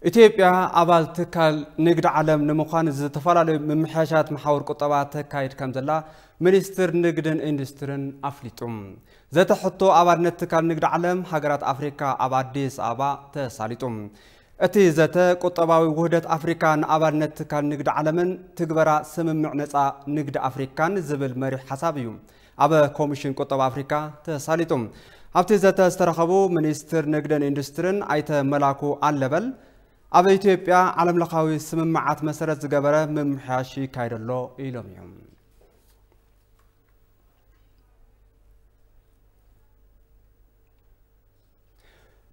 ኢትዮጵያ ኣባል ትካል ንግዲ ዓለም ንምዃን ዝተፈላለዩ ምምሕያሻት መሓውር ቁጠባ ተካይድ ከም ዘላ ሚኒስትር ንግድን ኢንዱስትሪን ኣፍሊጡ። ዘተ ሕቶ ኣባልነት ትካል ንግዲ ዓለም ሃገራት ኣፍሪካ ኣብ ኣዲስ ኣበባ ተሳሊጡ። እቲ ዘተ ቁጠባዊ ውህደት ኣፍሪካ ንኣባልነት ትካል ንግዲ ዓለምን ትግበራ ስምምዕ ነፃ ንግዲ ኣፍሪካን ዝብል መሪሕ ሓሳብ እዩ ኣብ ኮሚሽን ቁጠባ ኣፍሪካ ተሳሊጡ። ኣብቲ ዘተ ዝተረኸቡ ሚኒስትር ንግድን ኢንዱስትሪን ኣይተ መላኩ ኣለበል፣ ኣብ ኢትዮጵያ ዓለምለኻዊ ስምምዓት መሰረት ዝገበረ ምምሕያሽ ይካየድ ኣሎ ኢሎም እዮም።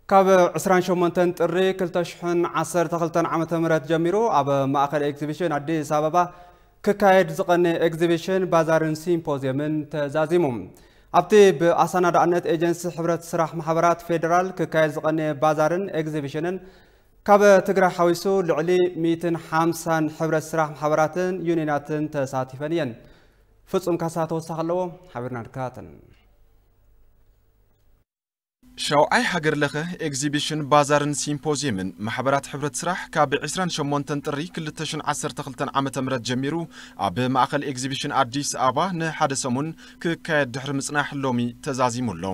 ካብ ዕስራን ሸሞንተን ጥሪ ክልተ ሽሕን ዓሰርተ ክልተን ዓመተ ምህረት ጀሚሩ ኣብ ማእከል ኤግዚቢሽን ኣዲስ ኣበባ ክካየድ ዝቐነየ ኤግዚቢሽን ባዛርን ሲምፖዝየምን ተዛዚሙ። ኣብቲ ብኣሰናዳእነት ኤጀንሲ ሕብረት ስራሕ ማሕበራት ፌደራል ክካየድ ዝቐነየ ባዛርን ኤግዚቢሽንን ካብ ትግራይ ሓዊሱ ልዕሊ ሚእትን ሓምሳን ሕብረት ስራሕ ማሕበራትን ዩኒየናትን ተሳቲፈን እየን። ፍጹም ካሳ ተወሳኺ ኣለዎ፣ ሓቢርና ንከታተል። ሻውዓይ ሃገር ለኸ ኤግዚቢሽን ባዛርን ሲምፖዝየምን ማሕበራት ሕብረት ስራሕ ካብ ዕስራን ሸሞንተን ጥሪ ክልተ ሽሕን ዓሰርተ ክልተን ዓመተ ምህረት ጀሚሩ ኣብ ማእከል ኤግዚቢሽን ኣዲስ ኣበባ ንሓደ ሰሙን ክካየድ ድሕሪ ምጽናሕ ሎሚ ተዛዚሙ ኣሎ።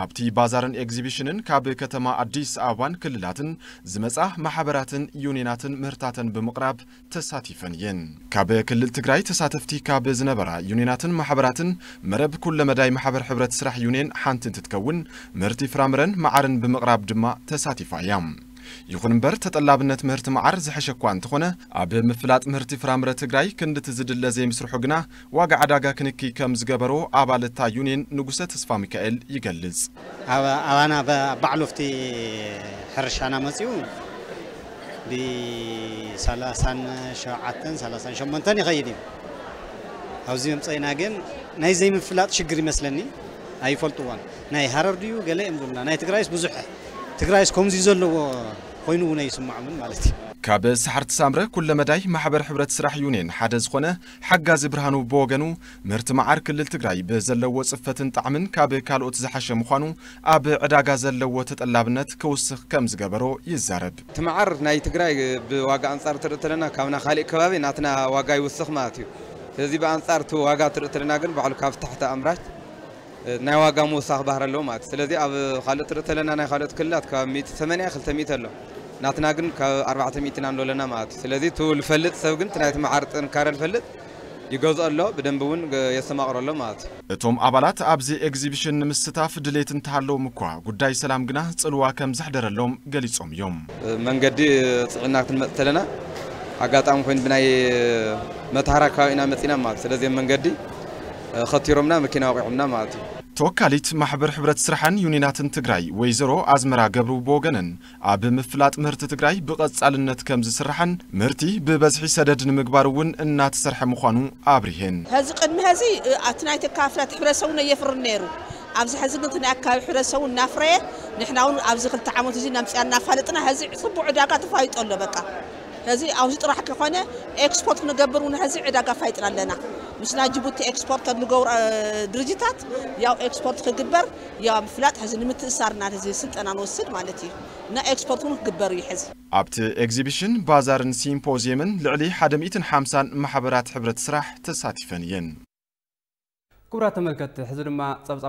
ኣብቲ ባዛርን ኤግዚቢሽንን ካብ ከተማ ኣዲስ ኣበባን ክልላትን ዝመጻ ማሕበራትን ዩኒየናትን ምህርታተን ብምቕራብ ተሳቲፈን እየን። ካብ ክልል ትግራይ ተሳተፍቲ ካብ ዝነበራ ዩኒየናትን ማሕበራትን መረብ ኩለመዳይ ማሕበር ሕብረት ስራሕ ዩኒየን ሓንቲ እንትትከውን፣ ምህርቲ ፍራምረን መዓርን ብምቕራብ ድማ ተሳቲፋ እያ። ይኹን እምበር፣ ተጠላብነት ምህርቲ መዓር ዝሐሸ እኳ እንተኾነ፣ ኣብ ምፍላጥ ምህርቲ ፍራምረ ትግራይ ክንድቲ ዝድለ ዘይምስርሑ ግና ዋጋ ዕዳጋ ክንኪ ከም ዝገበሮ ኣባል እታ ዩኒየን ንጉሰ ተስፋ ሚካኤል ይገልጽ። ኣብ ኣባና በ-፣ ባዕሉ ኣብቲ ሕርሻና መጺኡ ብሰላሳን ሸውዓተን ሰላሳን ሸሞንተን ይኸይድ እዩ። ኣብዚ መምፀኢና ግን ናይ ዘይምፍላጥ ሽግር ይመስለኒ፣ ኣይፈልጥዎን። ናይ ሃረር ድዩ ገለ እዮም ዝብሉና። ናይ ትግራይስ ብዙሕ፣ ትግራይስ ከምዚ ዘለዎ ኮይኑ እውን ኣይስምዖምን ማለት እዩ። ካብ ሰሓርቲ ሳምረ ኩለመዳይ ማሕበር ሕብረት ስራሕ ዩኒየን ሓደ ዝኾነ ሓጋዚ ብርሃኑ ብወገኑ፣ ምህርቲ መዓር ክልል ትግራይ ብዘለዎ ጽፈትን ጣዕምን ካብ ካልኦት ዝሓሸ ምዃኑ ኣብ ዕዳጋ ዘለዎ ተጠላብነት ክውስኽ ከም ዝገበሮ ይዛረብ። እቲ መዓር ናይ ትግራይ ብዋጋ ኣንጻር ትርኢ ተለና ካብና ካሊእ ከባቢ ናትና ዋጋ ይውስኽ ማለት እዩ። ስለዚ ብኣንጻር እቲ ዋጋ ትርኢ ተለና ግን ባዕሉ ካብ ታሕቲ ኣምራች ናይ ዋጋ ምውሳኽ ባህሪ ኣለዎ ማለት እዩ። ስለዚ ኣብ ካልኦት ትርኢ ተለና ናይ ካልኦት ክልላት ካብ ሚእቲ ሰማንያ ክልተ ሚእቲ ኣሎ። ናትና ግን ካብ ኣርባዕተ ሚእቲ ኢና ንሎ ኣለና ማለት እዩ። ስለዚ እቲ ዝፈልጥ ሰብ ግን እቲ ናይቲ መዓር ጥንካረ ዝፈልጥ ይገዝኦ ኣሎ፣ ብደንቢ እውን ገ-፣ የስተማቕሮ ኣሎ ማለት እዩ። እቶም ኣባላት ኣብዚ ኤግዚቢሽን ንምስታፍ ድሌት እንተሃለዎም እኳ፣ ጉዳይ ሰላም ግና ጽልዋ ከም ዘሕደረሎም ገሊጾም እዮም። መንገዲ ጽዒና ክትመጽእ ተለና፣ ኣጋጣሚ ኮይኑ ብናይ መተሃራ ከባቢ ኢና መጺና ማለት እዩ። ስለዚ መንገዲ ከቲሮምና፣ መኪና ወቂዖምና ማለት እዩ። ተወካሊት ማሕበር ሕብረት ስራሕን ዩኒናትን ትግራይ ወይዘሮ ኣዝመራ ገብሩ ብወገነን፣ ኣብ ምፍላጥ ምህርቲ ትግራይ ብቐጻልነት ከም ዝስራሕን ምህርቲ ብበዝሒ ሰደድ ንምግባር እውን እናተሰርሐ ምዃኑ ኣብሪሄን። ሕዚ ቅድሚ ሕዚ፣ እ፣ ኣቲ ናይ ተካፍላት ሕብረተሰቡ ነየፍርን ነይሩ። ኣብዚ ሕዚ ግን እቲ ናይ ኣካባቢ ሕብረተሰቡ እናፍረየ፣ ንሕና እውን ኣብዚ ክልተ ዓመት እዚ ነምፅያ እናፋለጥና ሕዚ ፅቡቅ ዕዳጋ ተፋይጦ ኣሎ። በቃ ሕዚ ኣብዚ ጥራሕ ከኾነ ኤክስፖርት ክንገብር እውን ሕዚ ዕዳጋ ፋይጥና ኣለና። ምስ ናይ ጅቡቲ ኤክስፖርተር ንገብሮ፣ እ፣ ድርጅታት ያው ኤክስፖርት ክግበር ያው ምፍላጥ ሕዚ ንምትእሳርና ሕዚ ስልጠና ንወስድ ማለት እዩ። እና ኤክስፖርት እውን ክግበር እዩ ሕዚ። ኣብቲ ኤግዚቢሽን፣ ባዛርን ሲምፖዚየምን ልዕሊ ሓደ ሚእትን ሓምሳን ማሕበራት ሕብረት ስራሕ ተሳቲፈን እየን። ክቡራት ተመልከትቲ፣ ሕዚ ድማ ጸብጻብ